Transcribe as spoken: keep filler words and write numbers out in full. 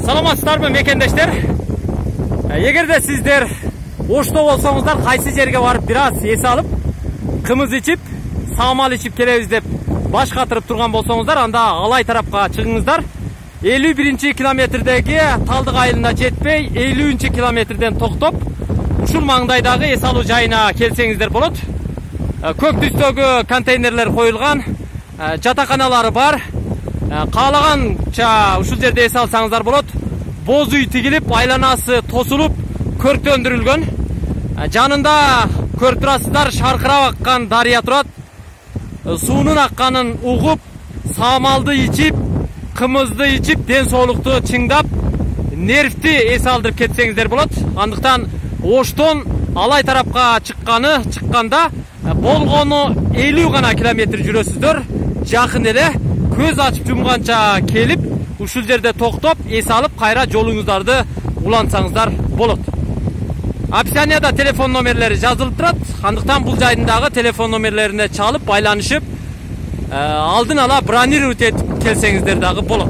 Саламатсыздарбы мекендештер? Эгерде сиздер Ошто болсоңуздар, кайсы жерге барып бир аз эс алып, кымыз ичип, самал ичип келебиз деп баш катырып турган болсоңуздар, анда Алай тарапка чыгыңыздар. элүү биринчи километрдеги Талдык айылына жетпей, элүүнчү километрден токтоп, ушул маңдайдагы эс алуу жайына келсеңиздер болот. Көк түстөгү контейнерлер коюлган, жатаканалары бар. Каалаганча ушул жерде эс алсаңыздар болот. Боз үй тигилип, айланасы тосулуп, көрктөндүрүлгөн. Жанында көрүп турасыздар, шаркырап аккан дарыя турат. Суунун акканын угуп, самалды ичип, кымызды ичип, ден соолукту чыңдап, нервти эс алдырып кетсеңиздер болот. Андыктан Оштон Алай тарапка чыкканы, чыкканда болгону элүү гана километр жүрөсүздөр. Жакын эле, көз ачып жумганча келип, ушул жерде токтоп, эс алып, кайра жолуңуздарды улантсаңыздар болот. Описанияда телефон номерлери жазылып турат. Андыктан бул жайдындагы телефон номерлерине чалып, байланышып, алдын ала бронировать этип келсеңиздер дагы болот.